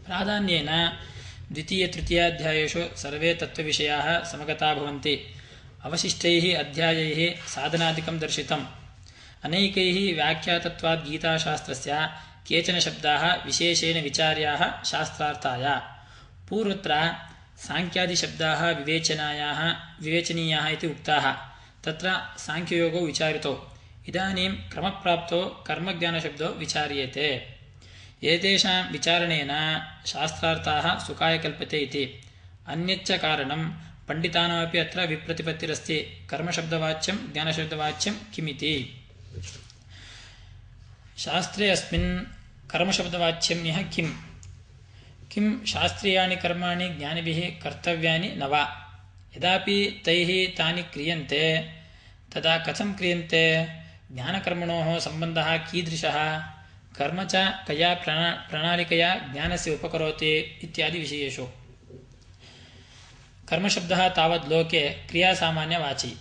प्राधान्येन द्वितीय-तृतीयाध्यायेषु सर्वे तत्त्वविषयाः समगता भवन्ति। अवशिष्टैः अध्यायैः साधनादिकं दर्शितम्। अनेकैः व्याख्यातत्वात् गीताशास्त्रस्य केचन शब्दाः विशेषेण विचार्याः शास्त्रार्थाय। पूर्वत्र सांख्यादिशब्दाः विवेचनीयाः इति उक्ताः। तत्र सांख्ययोगो विचारितो। इदानीं क्रमप्राप्तो कर्मज्ञानशब्दो विचार्येते। एतेषां विचारणेन शास्त्रार्थाः सुखाय कल्पते इति। अन्यच्च कारणं पण्डितानामपि अत्र विप्रतिपत्तिरस्ति। कर्मशब्दवाच्यं ज्ञानशब्दवाच्यं किमिति। शास्त्रे अस्मिन् कर्मशब्दवाच्यं यः किं शास्त्रीयाणि कर्माणि ज्ञानिभिः कर्तव्यानि न वा? यदापि तैः तानि क्रियन्ते तदा कथं क्रियन्ते? ज्ञानकर्मणोः सम्बन्धः कीदृशः? कर्म च कया प्रणालिकया ज्ञानस्य उपकरोति इत्यादि विषयेषु। कर्मशब्दः तावत् लोके क्रियासामान्यवाची।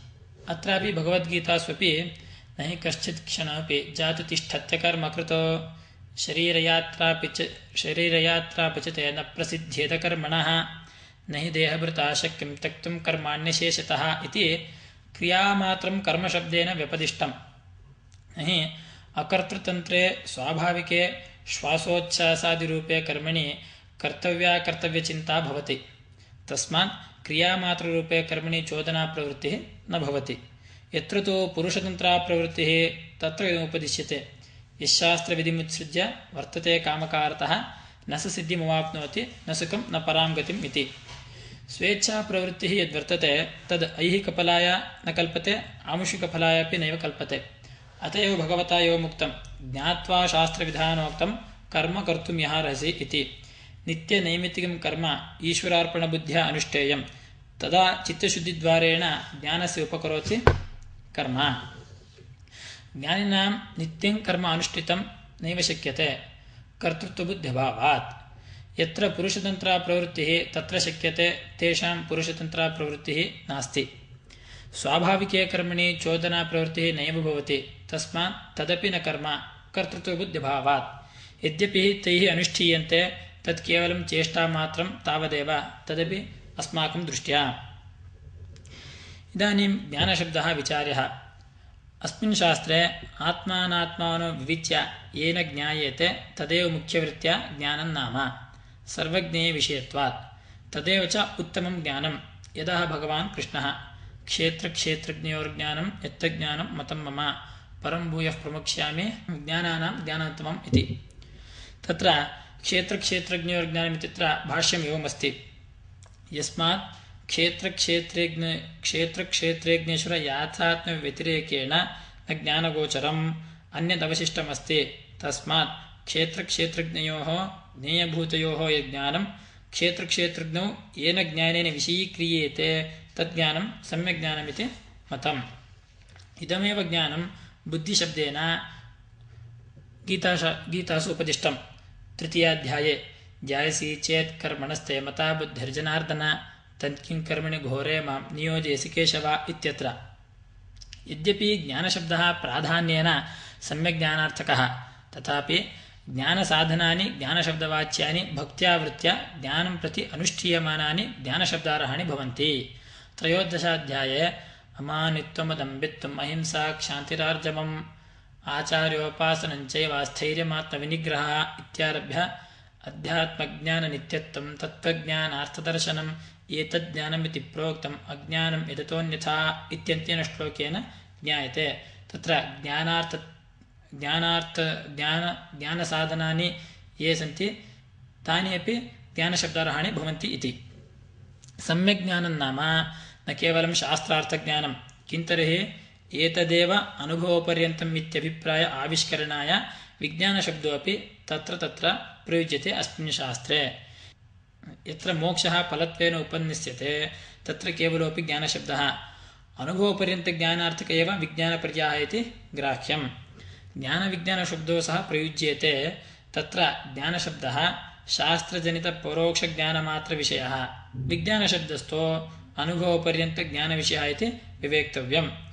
अत्रापि भगवद्गीतास्वपि न हि कश्चित् क्षणमपि जातु तिष्ठत्य कर्मकृतो शरीरयात्रापचते न प्रसिद्ध्येत कर्मणः न हि देहभृता शक्यं त्यक्तुं कर्माण्यशेषतः इति क्रियामात्रं कर्मशब्देन व्यपदिष्टम्। न हि अकर्तृतन्त्रे स्वाभाविके श्वासोच्छ्वासादिरूपे कर्मणि कर्तव्यचिन्ता भवति। तस्मात् क्रियामात्ररूपे कर्मणि चोदनाप्रवृत्तिः न भवति। यत्र तु पुरुषतन्त्राप्रवृत्तिः तत्र उपदिश्यते। यशास्त्रविधिमुत्सृज्य वर्तते कामकारतः न स सिद्धिमवाप्नोति न सुखं न परां गतिम् इति। स्वेच्छाप्रवृत्तिः यद्वर्तते तद् ऐहिकफलाय न कल्पते, आमुषिकफलाय अपि नैव कल्पते। अत एव भगवता एवमुक्तं ज्ञात्वा शास्त्रविधानोक्तं कर्म कर्तुं यहार्हसि इति। नित्यनैमित्तिकं कर्म ईश्वरार्पणबुद्ध्या अनुष्ठेयं। तदा चित्तशुद्धिद्वारेण ज्ञानस्य उपकरोति कर्म। ज्ञानिनां नित्यं कर्म अनुष्ठितं नैव शक्यते कर्तृत्वबुद्ध्यभावात्। यत्र पुरुषतन्त्राप्रवृत्तिः तत्र शक्यते, तेषां पुरुषतन्त्राप्रवृत्तिः नास्ति। स्वाभाविके कर्मणि चोदनाप्रवृत्तिः नैव भवति। तस्मात् तदपि न कर्म कर्तृत्वबुद्ध्यभावात्। यद्यपि तैः अनुष्ठीयन्ते तत् केवलं चेष्टामात्रं तावदेव, तदपि अस्माकं दृष्ट्या। इदानीं ज्ञानशब्दः विचार्यः। अस्मिन् शास्त्रे आत्मानात्मानो विविच्य येन ज्ञायेते तदेव मुख्यवृत्त्या ज्ञानं नाम सर्वज्ञेयविषयत्वात्। तदेव च उत्तमं ज्ञानं यदः भगवान् कृष्णः क्षेत्रक्षेत्रज्ञयोर्ज्ञानं यत्तज्ज्ञानं मतं मम परं भूयः प्रमुक्ष्यामि ज्ञानानां ज्ञानोत्तमम् इति। तत्र क्षेत्रक्षेत्रज्ञयोर्ज्ञानमित्यत्र भाष्यम् एवमस्ति। यस्मात् क्षेत्रक्षेत्रेज्ञेश्वर याथात्म्यव्यतिरेकेण न ज्ञानगोचरम् अन्यदवशिष्टमस्ति। तस्मात् क्षेत्रक्षेत्रज्ञयोः ज्ञेयभूतयोः यज्ञानं क्षेत्रक्षेत्रज्ञौ येन ज्ञानेन विषयीक्रियेते तज्ज्ञानं सम्यग्ज्ञानमिति मतम्। इदमेव ज्ञानं बुद्धिशब्देन गीतासु उपदिष्टम्। तृतीयाध्याये ध्यायसि चेत् कर्मणस्ते मता बुद्धिर्जनार्दन तत्किं कर्मणि घोरे मां नियोजयसि केशव इत्यत्र। यद्यपि ज्ञानशब्दः प्राधान्येन सम्यग्ज्ञानार्थकः, तथापि ज्ञानसाधनानि ज्ञानशब्दवाच्यानि भक्त्या वृत्त्या ज्ञानं प्रति अनुष्ठीयमानानि ज्ञानशब्दार्हाणि भवन्ति। त्रयोदशाध्याये अमानित्वमदम्बित्वम् अहिंसा क्षान्तिरार्जवम् आचार्योपासनञ्चैव स्थैर्यमात्मविनिग्रहः इत्यारभ्य अध्यात्मज्ञाननित्यत्वं तत्त्वज्ञानार्थदर्शनम् एतज्ज्ञानमिति प्रोक्तम् अज्ञानं यदतोऽन्यथा इत्यन्तेन श्लोकेन ज्ञायते। तत्र ज्ञानसाधनानि ये सन्ति तानि अपि ज्ञानशब्दार्हाणि भवन्ति इति। सम्यग्ज्ञानं नाम न केवलं शास्त्रार्थज्ञानं किन्तर्हि एतदेव अनुभवपर्यन्तम् इत्यभिप्राय आविष्करणाय विज्ञानशब्दोऽपि तत्र प्रयुज्यते अस्मिन् शास्त्रे। यत्र मोक्षः फलत्वेन उपन्यस्यते तत्र केवलोऽपि ज्ञानशब्दः। अनुभवपर्यन्तज्ञानार्थक एव विज्ञानपर्यायः इति ग्राह्यम्। ज्ञानविज्ञानशब्दो सह प्रयुज्येते। तत्र ज्ञानशब्दः शास्त्रजनितपरोक्षज्ञानमात्रविषयः, विज्ञानशब्दस्थो अनुभवपर्यन्तज्ञानविषयः इति विवेक्तव्यम्।